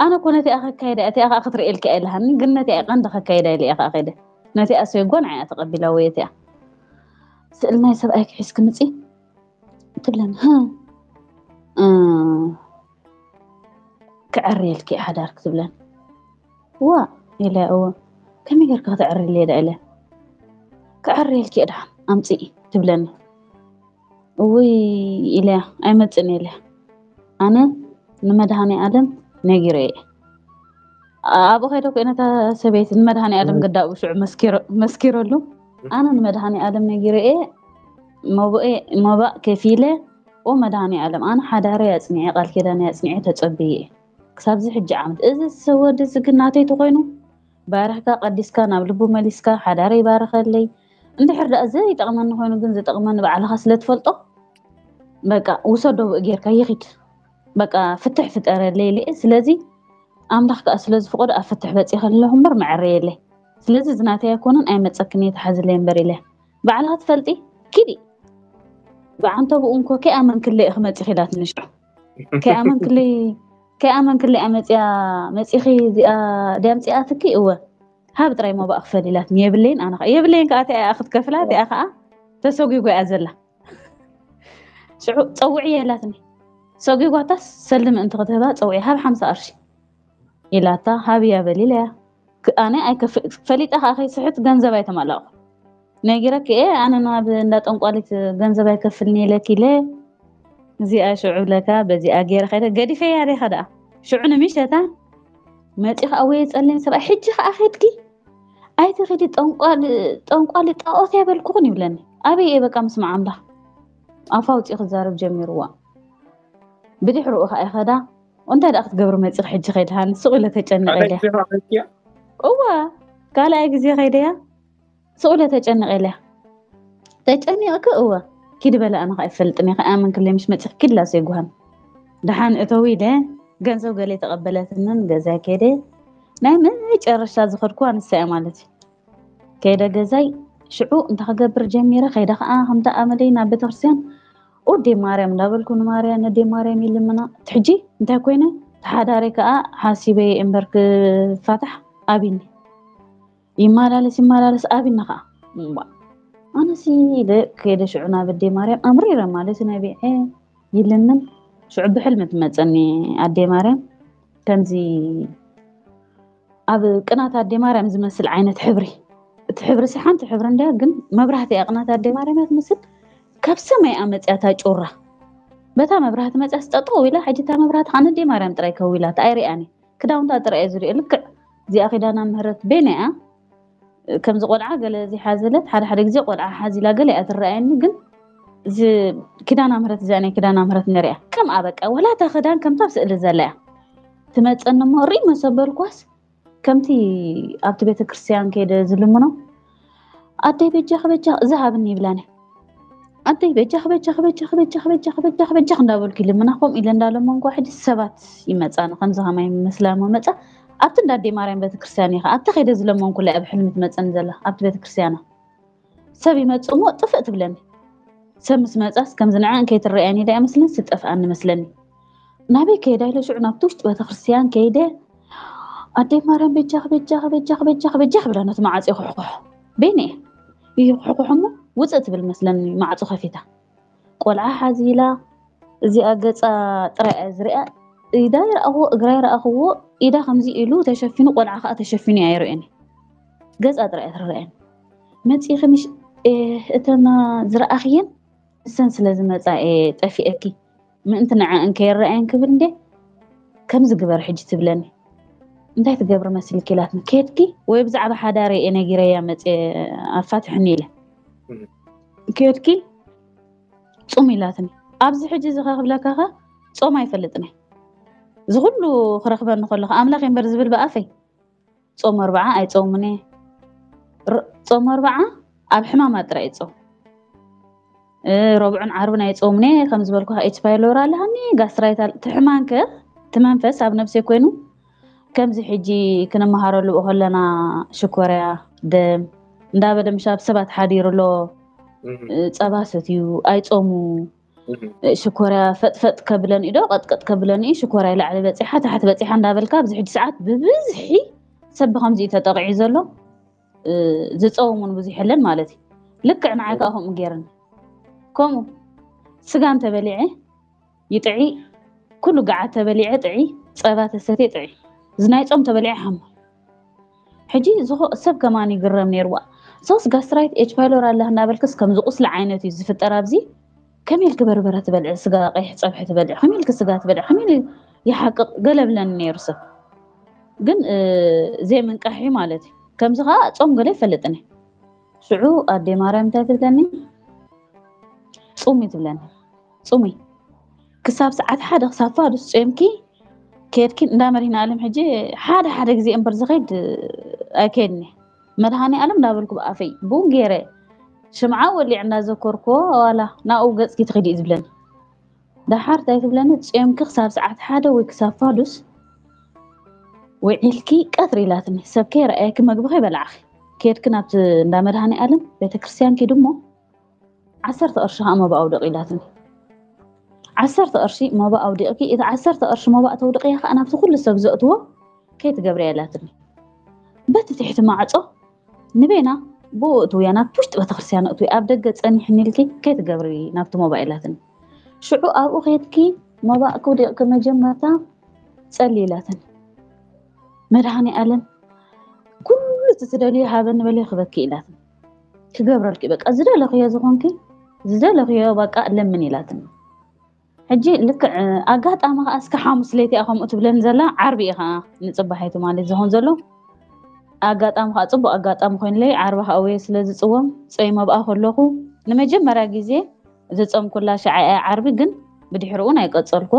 ኣነ እኮ ነቲኣ ከካይዳ እቲኣ ከዓ ክትርእየልኪ ኣይልሃኒ ግን ነቲኣ ቀንዲ ከካይዳ ኢለ እየ ከዓ ከይደ ነቲኣ ሰይጎ ንዓያ ተቐቢላ ወይ እቲኣ ስእል ናይ ሰብኣይኪ ሒዝኪ ምፂ ትብለኒ ክዕርየልኪ ሓዳር ክትብለኒ ዋ ኢለ እወ ከመይ ጌርካ ክትዕርየለይ ዳ ኢለ ክዕርየልኪ ድሓን ኣምፅኢ ትብለኒ እውይ ኢለያ ኣይመፅእን ኢለያ ኣነ ንመድሃኒ ኣለም ነጊረ እየ ኣብኡ ከይደ ኮ ነታ ሰበይቲ ንመድሃኒ ኣለም ገዳኡ ሽዑ መስኪረሉ ኣነ ንመድሃኒ ኣለም ነጊረ እየ መባእ ከፊለ ኦ መድሃኒ ኣለም ኣነ ሓዳረይ ኣፅኒዐ ቃል ኪዳነይ ኣፅኒዐ ተፀብየ እየ ክሳብዚ ሕጂ ዓመት እዚ ሰብ ወዲ እዚ ግን ናተይ ተኮይኑ ባርኽካ ቀዲስካ ናብ ልቡ መሊስካ ሓዳረይ ይባርኸለይ እንድሕር ደኣ ዘይጠቕመኒ ኮይኑ ግን ዝጠቕመኒ ባዕልኻ ስለ ትፈልጦ በቃ ውሰዶ ብኡ ጌርካ ይኺድ በቃ ፍትሕ ፍጠረለይ ኢለ ስለዚ ኣምላኽ ከዓ ስለ ዝፍቀዶ ኣብ ፍትሕ በፂኸ ኣለኹ እምበር መዐረየለይ ስለዚ እዚ ናተይ ኣይኮነን ኣይመፀክን እየ ተሓዝለይ እምበር ኢለ ባዕልኻ ትፈልጢ ኪዲ ብዓንተብኡ እንኮ ከይኣመንክለይ ኢኺ መፂኺ ኢላትኒ ሽዑ ከይኣመንክለይ ከይኣመንክለይ እያ መፂኣ መፂኺ እዚኣ ድያ ምፅኣትኪ እወ ሃብ ጥራይ ሞባእ ክፈል ኢላትኒ የብለይን ኣነ ከዓ የብለይን ከዓ እቲኣ ክትከፍላ እቲኣ ከዓ ተሰጒጓ እያ ዘላ ሽዑ ፀውዕያ ኢላትኒ ሰጒጓታስ ሰሊ ምእንቲ ክትህባ ፀውዒ ሃብ ሓምሳ ቅርሺ ኢላታ ሃብያ በል ኢለያ ኣነ ፈሊጠ ከዓ ከይስሕት ገንዘብ ኣይተማላእኩ ነጊረኪ እየ ኣነ ናብ እንዳ ጠንቋሊት ገንዘብ ኣይከፍልኒ ኢለኪ ኢለ እዚኣ ሽዑ ብለካ በዚኣ ገይረ ከይደ ገዲፈያ ዲኻ ደኣ ሽዑ ንምሸታ መፂ ከዓ ወየ ፀለኝ ሰብኣይ ሕጂ ከዓ ከድኪ ኣይትኺዲ ጠንቋሊ ጣዖት ያበልኩኽን ይብለኒ ኣበይ እየ በቃ ምስማዕ ኣምላኽ ኣፋ ውፅኢ ክዛረብ ጀሚርዋ ብድሕርኡ ከዓ ይኸዳ እንታይ ደኣ ክትገብሪ መፂኺ ሕጂ ከይድሃኒ ስቕ ኢለ ተጨኒቐ ኢለ እዋ ካልኣይ ግዜ ከይደያ ስቕ ኢለ ተጨኒቐ ኢለ ተጨኒቕኪ እወ ኪዲ በለ ኣነ ከዓ ይፈልጥን እየ ከኣምን ክለ ምሽ መፂኺ ኪድላ ዘይጉሃን ደሓን እተው ኢለ ገንዘብ ገለ ተቐበለትንን ገዛ ከይደ ናይ መጨረሻ ዝኸድኩዋ ንሳ እያ ማለት እዩ ከይደ ገዛይ ሽዑ እንታይ ክገብር ጀሚረ ከይደ ከዓ ከምቲ ኣመለይ ናብ ቤተክርስትያን ኦዴ ማርያም እንዳበልኩ ንማርያ ነዴ ማርያም ይልምና ትሕጂ እንታይ ኮይነ ተሓዳሪ ከዓ ሓሲበ እምበር ክፋታሕ ኣቢኒ ይመላለስ ይመላለስ ኣቢኒ ከዓ ኣነሲ ኢለ ከይደ ሽዑ ናብ ኣዴ ማርያም ኣምሪረ ማለት ነቢዐ ይልምን ሽዑ ብሕልሚ ትመፀኒ ኣዴ ማርያም ከምዚ ኣብ ቅናት ኣዴ ማርያም ዝመስል ዓይነት ሕብሪ እቲ ሕብሪ ሲ ሓንቲ ሕብሪ እንድያ ግን መብራህቲ እያ ቅናት ኣዴ ማርያም እያ ትመስል ካብ ሰማይ እያ መፅያ እታ ጩራ በታ መብራህቲ መፅያ ስጠጠው ኢላ ሕጂ እታ መብራህቲ ከዓ ነዴ ማርያም ጥራይ ከው ኢላ ኣይሪኣን ክዳውንታ ጥራይ እየ ዝሪኦ ልክዕ እዚኣ ኪዳና ምህረት ቤና እያ ከምዚ ቆልዓ ገለ ዝሓዘለት ሓደ ሓደ ግዜ ቆልዓ ሓዚላ ገለ እያ ትረኣየኒ ግን እዚ ኪዳና ምህረት እዚኣ ናይ ኪዳና ምህረት ነሪኣ ከምኣ በቃ ወላ እታ ክዳን ከምታ ኣብ ስእሊ ዘላ እያ ትመፀኒ እሞ ርኢ መሰበልኳስ ከምቲ ኣብቲ ቤተክርስትያን ከይደ ዝልምኖ ኣደይ በጃኺ በጃኺ እዚ ሃብኒ ይብላኒ። ኣደይ በጃኺ በጃኺ በጃኺ በጃኺ በጃኺ በጃኺ በጃኺ እንዳበልኩ ይልምና። ከምኡ ኢለ እንዳለመንኳ ሕጂ ሰባት ይመፃኒ ከምዚ ከማይ መስላሞ መፃ ኣብቲ እንዳ ኣደይ ማርያም ቤተክርስትያን ኢኻ ኣብቲ ከይደ ዝለመንኩላ ኣብ ሕልሚ ትመፀኒ ዘላ ኣብቲ ቤተክርስትያና ሰብ ይመፅእ እሞ ጥፍእ ትብለኒ። ሰብ ምስ መፃስ ከምዚ ንዐ እንከይትረኣየኒ ዳ መስለን ስጠፍኣኒ መስለኒ። ናበይ ከይዳ ኢለ ሽዑ ናብቲ ውሽጢ ቤተክርስትያን ከይደ ኣደይ ማርያም በጃኺ በጃኺ በጃኺ በጃኺ በጃኺ ብላ ነቲ ማዕፆ ይኹሕኩሖ። በይነ ይኹሕኩሖ እሞ ውፅእ ትብል መስለኒ ማዕፆ ከፊታ። ቆልዓ ሓዚላ እዚኣ ገፃ ጥራይ እያ ዝሪኣ። ኢዳ ይረኣኽዎ እግራ ይረኣኽዎ። ኢዳ ከምዚ ኢሉ ተሸፊኑ ቆልዓ ከዓ ተሸፊኑ እያ ይርእየኒ። ገፃ ጥራይ እያ ትረኣየኒ። መፂኺ ምሽ እተን ዝረኣኽየን ንሰን ስለ ዝመፃ እየ ጠፊአኪ ምእንቲ ንዐ እንከይረኣየን ክብል እንዴ ከምዚ ግበር ሕጂ ትብለኒ። እንታይ ትገብሪ መሲልኪ ኢላትኒ። ከድኪ ወይ ብዛዕባ ሓዳረ እየ ነጊረያ መፅየ ኣፋትሕኒ ኢለ ከድኪ ፁም ኢላትኒ። ኣብዚ ሕጂ እዚ ከክብለካ ከ ፆም ኣይፈልጥን እየ። እዚ ኩሉ ክረክበኒ ከለካ ኣምላኽ እምበር ዝብል ብኣፈይ ጾም ኣርብዓ ኣይጾምን እየ። ጾም ኣርብዓ ኣብ ሕማማት ጥራይ ይጾም። ረብዑን ዓርብን ኣይጾምን እየ። ከም ዝበልኩ ኤች ፓይሎር ኣለሃኒ፣ ጋስትራይት ኣለ። እቲ ሕማም ከ እቲ መንፈስ ኣብ ነብሰይ ኮይኑ ከምዚ ሕጂ ክንመሃረሉ ከለና ሽኮርያ ደም እንዳበለ ምሻብ ሰባት ሓዲሩ ኣሎ። ጸባ ሰትዩ ኣይጾሙ ሽኮርያ ፈጥፈጥ ከብለን ኢዶ ቀጥቀጥ ከብለን እዩ። ሽኮርያ ላዕሊ በፂሓ ታሕቲ በፂሓ እንዳበልካ ኣብዚ ሕጂ ሰዓት ብብዝሒ ሰብ ብከምዚ እዩ ተጠቂዑ ዘሎ። ዝፀውሙን ብዙሕ የለን ማለት እዩ። ልክዕ ንዓይ ከዓ ከምኡ ገይርኒ። ከምኡ ስጋ እንተበሊዐ ይጥዒ፣ ኩሉ ገዓ ተበሊዐ ጥዒ፣ ፀባ ተሰትየ ጥዒ፣ ዝናይ ፆም ተበሊዐ ሓማ። ሕጂ ሰብ ከማን ይግረም ነይርዋ። ሶስ ጋስትራይት ኤች ፓይሎር ኣለህ እናበልክስ ከምዚ ቁስሊ ዓይነት እዩ ዝፍጠር ኣብዚ። ከመይ ኢልክ በርበረ ትበልዒ፣ ስጋ ቀይሕ ፀብሒ ትበልዒ፣ ከመይ ኢልክ ስጋ ትበልዒ፣ ከመይ ኢሉ ይሓቅቕ ገለ ብለኒ ነይሩ ሰብ። ግን ዘይምንቃሕ እዩ ማለት እዩ። ከምዚ ከዓ ጾም ገለ ይፈልጥኒ። ሽዑ ኣዴ ማርያም እንታይ ትብለኒ? ጹሚ ትብለኒ። ጹሚ ክሳብ ሰዓት ሓደ ክሳብ ፋዱስ ጾምኪ ከድኪ እንዳ መድህን ኣለም ሕጂ ሓደ ሓደ ግዜ እምበር ዝኸይድ ኣይከድኒ። መድሃኒ ኣለም እንዳበልኩ ብኣፈይ ቡን ገይረ ሽምዓ ወሊዕ እንዳዘኮርኮ ዋላ ናብኡ ገጽኪ ትኸዲ እዩ ዝብለኒ። ደሓር እንታይ ትብለኒ? ጾምኪ ክሳብ ሰዓት ሓደ ወይ ክሳብ ፋዱስ ውዒልኪ ቀትሪ ኢላትኒ። ሰብ ከይረኣየኪ መግቢ ከይበላዕኺ ከድኪ ናብቲ እንዳ መድሃኒ ኣለም ቤተክርስትያን ኪዱ እሞ ዓሰርተ ቅርሺ ከዓ መባእ ኣውድቂ ኢላትኒ። ዓሰርተ ቅርሺ መባእ ኣውዲቕኪ፣ እቲ ዓሰርተ ቅርሺ መባእ ተውድቕያ ከዓ ናብቲ ኩሉ ሰብ ዘእትዎ ከይትገብርያ ኢላትኒ። በቲ ትሕቲ ማዕጾ ንቤና ብኡ እትውያ ናብቲ ውሽጢ ቤተክርስትያን እትዊ ኣብ ደገ ጸኒሕኒ ኢልኪ ከይትገብሪ ናብቲ መባእ ኢላትኒ። ሽዑ ኣብኡ ከድኪ መባእ ክውዲቕኪ መጀመርታ ጸሊ ኢላትኒ። መድሃኒ ኣለም ኩሉ እቲ ትደልዮ ሃበኒ በለ ክበኪ ኢላትኒ። ክገብረልኪ በቃ ዝደለኽዮ ዝኾንኪ ዝደለኽዮ በቃ ለምን ኢላትኒ። ሕጂ ልክዕ ኣጋጣሚ ከዓ እስከ ሓሙስ ለይቲ እያ ከምኡ ትብለኒ ዘላ ዓርቢ እዩ ከዓ ንፅባሒቱ ማለት ዝኸውን ዘሎ ኣጋጣሚ ከዓ ፅቡቅ ኣጋጣሚ ኮይኑለይ ዓርቢ ከዓ ወየ ስለ ዝፅወም ጾም ኣብኣ ከለኹ ንመጀመርያ ግዜ ዝፀምኩላ ሸዓ እያ ዓርቢ ግን ብድሕሪ እውን ኣይቀፀልኩ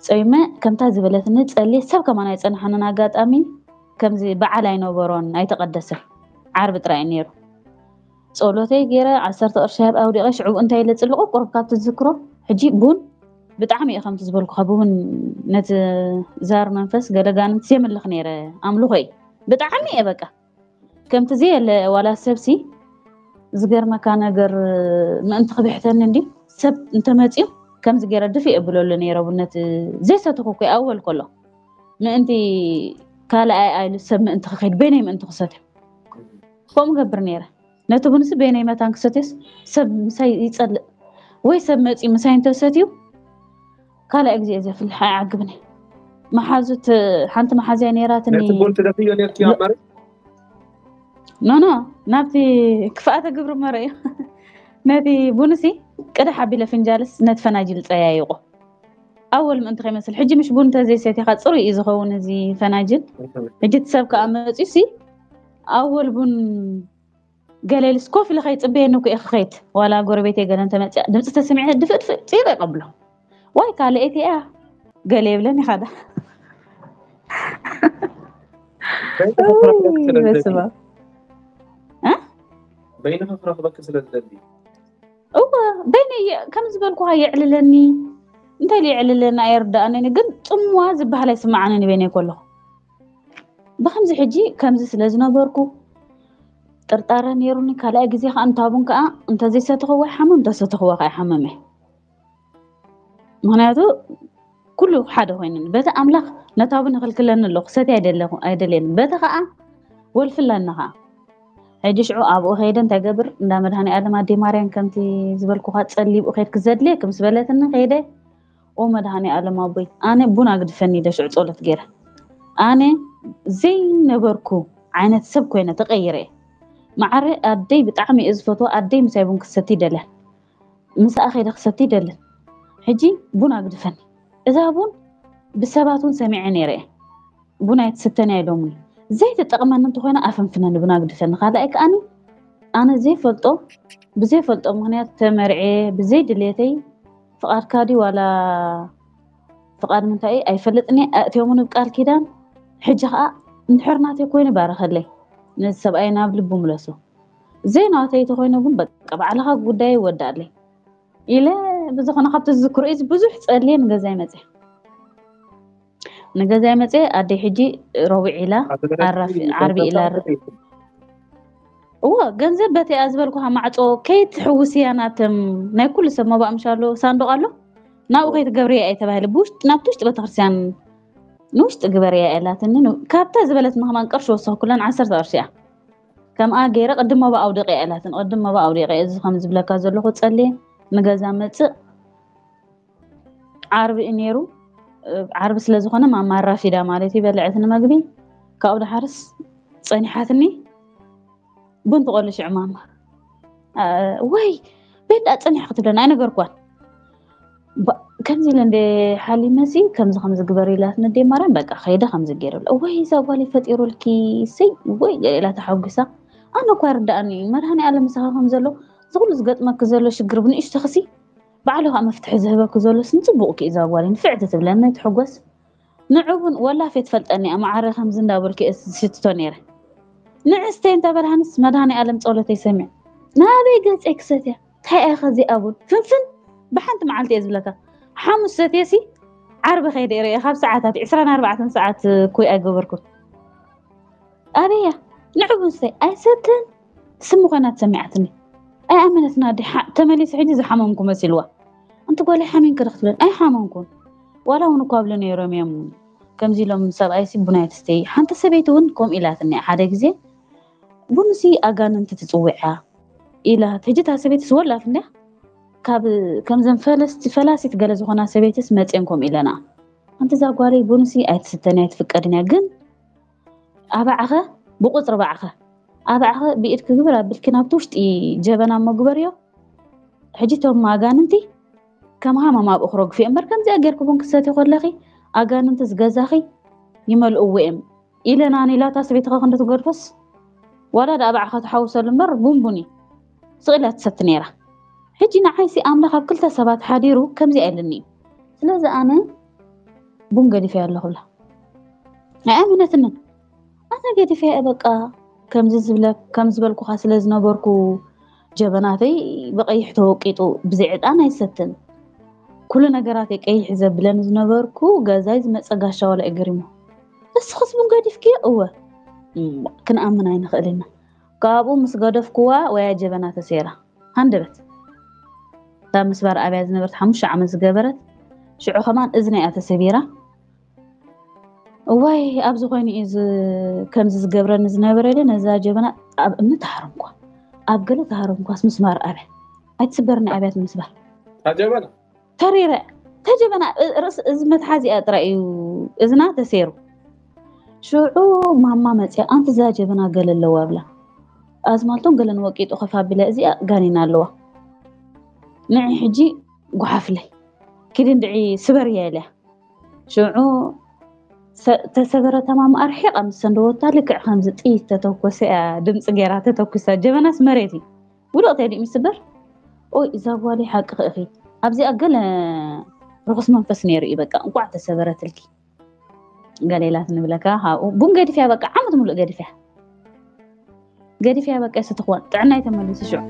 ጾይመ ከምታ ዝበለትኒ ጸልየ ሰብ ከማን ኣይጸንሓንን ኣጋጣሚ ከምዚ በዓል ኣይነበሮን ኣይተቐደሰ ዓርቢ ጥራይ ነይሩ ጸሎተይ ገይረ ዓሰርተ ቅርሺ ኣብ ኣውዲቐ ሽዑ እንታይ ኢለ ጽልቑ ቁሩብ ካብ ትዝክሮ ሕጂ ቡን ብጣዕሚ እየ ከምቲ ዝበልኩኻ ብቡን ነቲ ዛር መንፈስ ገለጋንት የምልኽ ነይረ ኣምልኾ እዩ ብጣዕሚ እየ በቃ ከምቲ ዘየለ ዋላ ሰብሲ ዝገርመካ ነገር ምእንቲ ክብሕተኒ እንዲ ሰብ እንተመፅዩ ከምዚ ገይረ ድፊ የብለሉ ነይረ ቡነት ዘይሰትኹ እኮ ኣወል ከሎ ምእንቲ ካልኣይ ኣይሉ ሰብ ምእንቲ ክኸይድ በይነይ ምእንቲ ክሰትዮ ከምኡ ገብር ነይረ ነቲ ቡንሲ በይነይ መታን ክሰትዮስ ሰብ ምሳይ ይፀልእ ወይ ሰብ መፅዩ ምሳይ እንተሰትዩ ካልኣይ ግዜ ዘፍልሕ ኣይዓግብን መሓዙት ሓንቲ መሓዝያ ነይራትኒ ነቲ ቡን ትደፍዮ ነርኪ ኣብ መሬት ኖኖ ናብቲ ክፍኣተ ግብሪ መረ እዩ ነቲ ቡንሲ ቅዳሕ ኣቢለ ፍንጃልስ ነቲ ፈናጅል ፀያይቆ ኣወል ምእንቲ ከይመስል ሕጂ ምሽ ቡን ተዘይሰቲኻ ፅሩይ እዩ ዝኸውን እዚ ፈናጅል ሕጂ እቲ ሰብ ከዓ መፅዩ ሲ ኣወል ቡን ገለ ኢልስ ኮፍ ኢለ ከይፅበየኒ እኮ እየ ክኸይድ ዋላ ጎረቤት ገለ እንተመፅያ ድምፂ ተሰሚዐ ድፍእ ድፍእ ፅይር ይቐብሎ ዋይ ካልአይቲ እያ ገለ የብለን ይኻዳ በይንኻ ክረኽበኪ ስለ ዝደሊ። በስመ ኣብ። እ? በይንኻ ክረኽበኪ ስለ ዝደሊ። እወ፣ በይነይ እየ፣ ከም ዝበልኩኻ የዕልለኒ። እንታይ ኢሉ የዕልለኒ ኣይርዳእንን፣ ግን ጽምዋ ዝበሃል ኣይስምዓንን በይነይ ከለኹ። ብኸምዚ ሕጂ ከምዚ ስለ ዝነበርኩ ጥርጣረ ነይሩኒ። ካልኣይ ግዜ ከዓ እንታቡን ከዓ እንተዘይሰተኽዎ ይሓምም፣ እንተሰተኽዎ ከዓ ይሓምም እየ። ምኽንያቱ ኩሉ ሓደ ኮይኑኒ። በቲ ኣምላኽ ነታቡን ይኽልክለኒ ኣሎ፣ ክሰትይ ኣይደለኹ-፣ ኣይደልየኒ። በቲ ከዓ ወልፊ ኣለኒ ከዓ። ሕጂ ሽዑ ኣብኡ ከይደ እንታይ ገብር፣ እንዳ መድሃኔ ኣለም ኣዴ ማርያም ከምቲ ዝበልኩኻ ጸሊብኡ ከይድኪ ዘድልየኪ ምስ በለትኒ ከይደ፣ ኦ መድሃኔ ኣለም ኣቦይ፣ ኣነ ቡን ኣግድፈኒ ኢለ ሽዑ ጸሎት ገይረ። ኣነ ዘይነበርኩ ዓይነት ሰብ ኮይነ ተቐይረ እየ። ማዕረ ኣደይ ብጣዕሚ እየ ዝፈትዋ፣ ኣደይ ምሳይ ቡን ክሰቲ ይደልያ። ምስኣ ከይደ ክሰቲ ይደልን። ሕጂ ቡን ኣግድፈኒ። እዛ ቡን ብሰባት እውን ሰሚዐ ነይረ እየ። ቡን ኣይትስተን እያ ኢሎምኒ። ዘይትጠቕመኒ እንተኾይና ኣፈንፍነኒ፣ ቡን ኣግድፈኒ። ካልኣይ ከኣኒ ኣነ ዘይፈልጦ፣ ብዘይፈልጦ ምኽንያት ተመርዕየ፣ ብዘይ ድሌተይ ፍቓድካ ድዩ ዋላ ፍቓድ ምንታይ እዩ ኣይፈልጥን እየ። ኣእትዮምኒ ብቃል ኪዳን። ሕጂ ኸኣ እንድሕር ናተይ ኮይኑ ባረኸለይ። ነዚ ሰብኣይ ናብ ልቡ ምለሶ። ዘይናተይ ተኾይኑ ግን በቃ ባዕልኻ ጉዳይ ይወዳለይ ኢለ ብዝኾነ ካብቲ ዝዝክሮ እዚ ብዙሕ ጸልየ ንገዛይ መጽየ። ንገዛይ መጽየ ኣደይ ሕጂ ረቡዕ ኢላ ኣራፊ ዓርቢ ኢላ እዎ ገንዘብ በቲ እያ ዝበልኩኻ ማዕጾ ከይትሕውስያ ናተም ናይ ኩሉ ሰብ መባእ ምሻሎ ሳንዱቕ ኣሎ ናብኡ ከይትገብርያ እየ ተባሂለ ብውሽጢ ናብቲ ውሽጢ ቤተክርስትያን ንውሽጢ ግበርያ እያ ኢላትኒ። ን- ካብታ ዝበለትኒ ከማን ቅርሺ ወሰኽኩለን ዓሰርተ ቅርሺ እያ ከምኣ ገይረ ቅድም መባእ ኣውደቂ እያ ኢላትኒ። ቅድም መባእ ኣውደቂ እየ እዚ ከም ዝብለካ ዘለኹ ጸልየ ንገዛ መጽእ ዓርቢ እዩ ነይሩ። እ፣ ዓርቢ ስለ ዝኾነ ማማ ኣራፊዳ ማለት እዩ በልዐትኒ መግቢ። ካብኡ ድሓርስ ጸኒሓትኒ ቡን ትቆሉ ሽዑ ማማ እ፣ ወይ ቤንዳ ጸኒሕ ክትብለና ኣይነገርኳን። ባ- ከምዚ ኢለ እንደ ሓሊመሲ ከምዚ ከምዚ ግበር ኢላትኒ ኣደይ ማርያም በቃ ከይደ ከምዚ ገይረሉ እወይ እዛ ጓለይ ፈጢሩልኪ ሰይ ወይ ገለ ኢላ ተሓጒሳ። ኣነ እኳ ይርድኣኒ እዩ መድሃኔ ኣለም ምሳኻ ከም ዘሎ እዚ ኩሉ ዝገጥመኪ ዘሎ ሽግር ብንእሽቶኽሲ ባዕሉ ከዓ መፍትሒ ዝህበኪ ዘሎስ ንፅቡቕኪ እዩ እዛ ጓለይ ንፍዕቲ ትብለኒ ኣይትሕጎስ። ንዑ እውን ወላፍ እየ ትፈልጠኒ እያ ማዓረ ከምዚ እንዳበልኩ እየ ዝሽትቶ ነይረ። ንእስተይ እንተ በልሃንስ መድሃኔ ኣለም ጸሎተይ ሰሚዑ ናበይ ገጸይ ክሰትያ እንታይ እያ ከዚኣ ቡን ፍንፍን ብሓንቲ መዓልቲ እየ ዝብለካ ሓሙስ ሰትየሲ ዓርቢ ከይደ ርእየ ካብ ሰዓታት ዕስራን ኣርባዕተን ሰዓት ኩይ ኣይገበርኩን ኣበያ ንዑ ቡን ስተይ ኣይሰትን ስሚ ኮይና ትሰሚዓትኒ ኣይኣመነትና ዲ ተመሊሱ ሕጂ ዝሓመምኩ መሲልዋ ኣንቲ ጓለይ ሓሚንኪ ዶ ክትብለኒ ኣይሓመምኩን ዋላ እውን እኳ ብሉ ነይሮም እዮም ከምዚ ኢሎም ሰብኣይሲ ቡን ኣይትስተይ ሓንቲ ሰበይቲ እውን ከምኡ ኢላትኒ ሓደ ግዜ ቡንሲ ኣጋንንቲ ትፅውዓ ኢላት ሕጂ እታ ሰበይትስ ወላፍ እንድያ ካብ ከምዘን ፈለስቲ ፈላሲት ገለ ዝኾና ሰበይትስ መፅየን ከምኡ ኢለና ኣንቲ እዛ ጓለይ ቡንሲ ኣይትስተን ኣይትፍቀድን እያ ግን ኣባዕኸ ብቁፅሪ ባዕኸ ኣባዕኸ ብኢድኪ ግብር ኣቢልኪ ናብቲ ውሽጢ ጀበና እሞ ግበርዮ ሕጂ እቶም ኣጋንንቲ ከም ሃመም ኣብኡ ክረግፉ እዮም እምበር ከምዚኣ ጌርኪ ቡን ክትሰትዪ ከለኺ ኣጋንንቲ ዝገዛኺ ይመልእዎ እዮም ኢለና ኔላታ ሰበይትኻ ክንዲ ትገድፎስ ዋላ ደኣ ባዕኻ ትሓውሰሉ እምበር ቡን ቡን እዩ ስቕ ኢላ ትሰቲ ነይራ ሕጂ ንዓይሲ ኣምላኽ ኣብ ክልተ ሰባት ሓዲሩ ከምዚኣ ኢልኒ እዩ ስለዚ ኣነ ቡን ገዲፈያ ኣለኹ ብላ ኣይኣመነትንን ኣነ ገዲፈያ እየ በቃ ከምዚ ዝብለ ከም ዝበልኩኻ ስለ ዝነበርኩ ጀበናተይ ብቐይሕ ተወቂጡ ብዘይ ዕጣን ኣይሰትን ኩሉ ነገራተይ ቀይሕ ዘብለኒ ዝነበርኩ ገዛይ ዝመፀ ጋሻ ዋላ እዩ ገሪሙ እስኽስ ቡን ገዲፍክዮ እወ እም፣ ክንኣምን ኣይንኽእል ኢና ካብኡ ምስ ገደፍኩዋ ወያ ጀበና ተሰይራ ሃንደበት እታ ምስባር ኣብያ ዝነበረት ሓሙሽተ ዓመት ዝገበረት ሽዑ ከማን እዝና እያ ተሰቢራ እዋይ ኣብዚ ኮይኑ እዩ ዝ- ከምዚ ዝገብረኒ ዝነበረ ኢለ ነዛ ጀበና ኣብ እምኒ ተሃረምኳ ኣብ ገለ ተሃረምኳስ ምስባር ኣብያ ኣይትስበርኒ ኣብያ እቲ ምስባር ታጀበና ተሪረ ተጀበና እ- ርእስ እዚ መትሓዚኣ ጥራይ እዩ እዝና ተሰይሩ ሽዑ ማማ መፅያ ኣንቲ እዛ ጀበና ገለ ኣለዋ ብላ ኣዝማልቶን ገለን ወቂጡ ከፍ ኣቢላ እዚኣ ጋኔና ኣለዋ ንዒ ሕጂ ጓሓፍለይ ኪዲ እንድዒ ስበርያ ኢለያ ሽዑ ሰ- ተሰበረ ተማም ኣርሒቓ ምስ ሰንደወታ ልክዕ ከምዚ ጥይት ተተኮሰ እያ ድምፂ ገይራ ተተኩሳ ጀበናስ መሬት እዩ ውድቕ ተዲኡ ምስበር ኦይ እዛ ጓለይ ሓቂ ክእኺ ኣብዚኣ ገለ ርኹስ መንፈስ ነይሩ እዩ በቃ እንቋዕ ተሰበረትልኪ ገሌላት ንብለካ ካብኡ ቡን ገዲፍያ በቃ ዓመት ሙሉእ ገዲፍያ ገዲፍያ በቃ ስትኾን ጥዕናይ ተመሊሱ ሽዑ